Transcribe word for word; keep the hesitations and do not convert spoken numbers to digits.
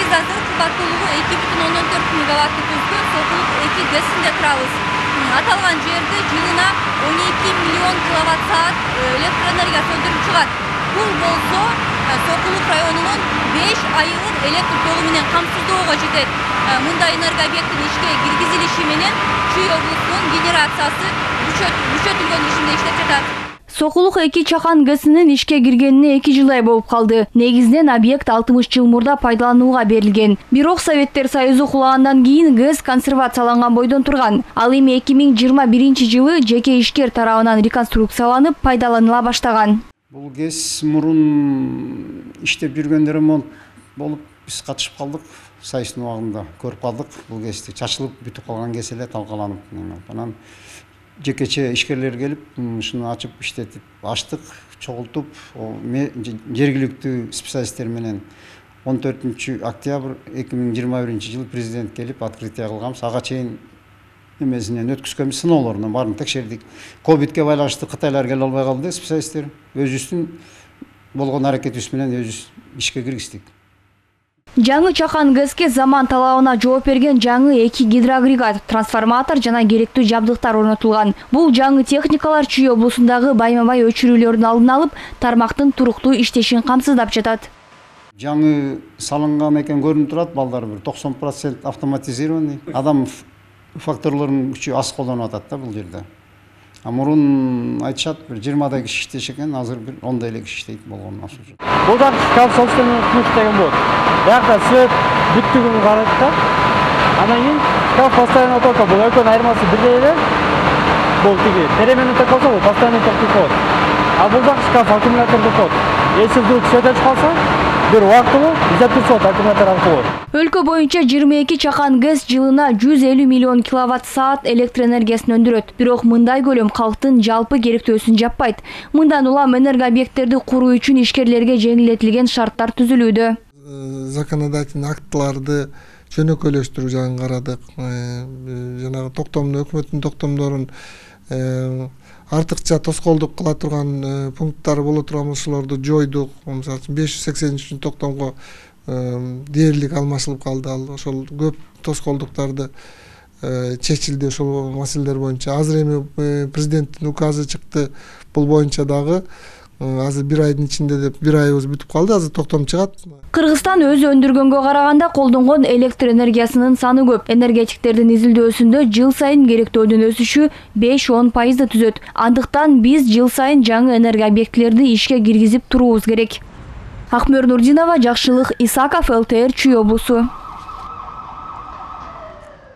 Биз азыр кубаттуулугу эки бүтүн ондон төрт мегаватты түзгөн Сокулук эки ГЭСинде турабыз. Аталган жерде жылына он эки миллион киловатт саат электр энергиясы өндүрүлүп чыгат. Бул болсо Сокулук районунун беш айылын электр тогу менен камсыздоого жетет. Мындай энергообъекттин ишке киргизилиши менен Чүй облусунун генерациясы күчөтүлгөн режимде иштеп жатат. Сокулук эки чакан ГЭСинин ишке киргенине эки жылдай болуп калды. Негизинен объект алтымыш жыл мурда пайдаланууга берилген. Бирок Советтер Союзу кулагандан кийин ГЭС консервацияланган бойдон турган. Ал эми эки миң жыйырма биринчи жылы жеке ишкер тарабынан реконструкцияланып пайдаланыла баштаган. Бул ГЭС мурун иштеп жүргөндө ремонт болуп биз катышып калдык. Сайыстын убагында көрүп калдык. Бул ГЭСти чачылып бүтүп калган ГЭС эле талкаланып. Анан жекече ишкерлер келип, ушуну ачып иштетип, ачтык, чогултуп, жергиликтүү специалисттер менен он төртүнчү октябрь эки миң жыйырма биринчи жылы президент келип открытие кылганбыз. Ага чейин эмесинен өткүзгөнбүз, сыноолорунан баарын текшердик. Ковидке байланыштуу Кытайлар келе албай калды специалисттер. Өзүбүздүн болгон аракетибиз менен өзүбүз ишке киргиздик. Жаңы чакан ГЭСке заман талабына жооп берген жаңы эки гидроагрегат, трансформатор жана керектүү жабдыктар орнотулган. Бул жаңы техникалар Чүй облусундагы байма-бай өчүрүүлөрдүн алдын алып, тармактын туруктуу иштешин камсыздап жатат. Жаңы салынган экен көрүнүп турат, балдар бир токсон процент автоматизированный. Адам факторлорунун күчү аз колдонуп атат да бул жерде. А мурун айтышат бир жыйырмадай киши иштеши экен, азыр бир ондай эле киши иштейт болгон окшойт. Бул да шкаф собственный ключ деген болот. Биякта свет бүттүгүн карайт да. Анан кийин шкаф постоянно токтойт. Бул экөөнүн айырмасы бирдей эле. Бул тиги переменный ток болсо, бул постоянно токтоп коет. А бул да шкаф аккумуляторду коет. Если вдруг свет өчүп калса, бир убактылуу изотуп коет аккумулятор аркылуу. Өлкө боюнча жыйырма эки чакан ГЭС жылына жүз элүү миллион киловатт саат электр энергиясын өндүрөт. Бирок мындай көлөм калктын жалпы керектөөсүн жаппайт. Мындан улам энергообъекттерди куруу үчүн ишкерлерге жеңилдетилген шарттар түзүлүүдө. Законодательный актыларды жөнөкөйлөштүрүү жагын карадык. Жанагы токтомдо өкмөттүн токтомдорун артыкча тоскоолдук кыла турган пункттары боло турган ошолорду жойдук. Мисалы үчүн беш жүз сексен үчүнчү токтомго дээрлик алмашылып калды. Ал ошол көп тоскоолдуктарды чечилди ошол маселелер боюнча. Азыр эми президенттин указы чыкты. Бул боюнча дагы азыр бир айдын ичинде деп бир айыбыз бүтүп калды. Азыр токтом чыгат. Кыргызстан өзү өндүргөнгө караганда колдонгон электр энергиясынын саны көп. Энергетиктердин изилдөөсүндө жыл сайын керектөөдүн өсүшү беш он пайызды түзөт. Андыктан биз жыл сайын жаңы энергообъектилерди ишке киргизип туруубуз керек. Акмөр Нурдинова, Жакшылык Исаков, эл тэ эр Чүй облусу.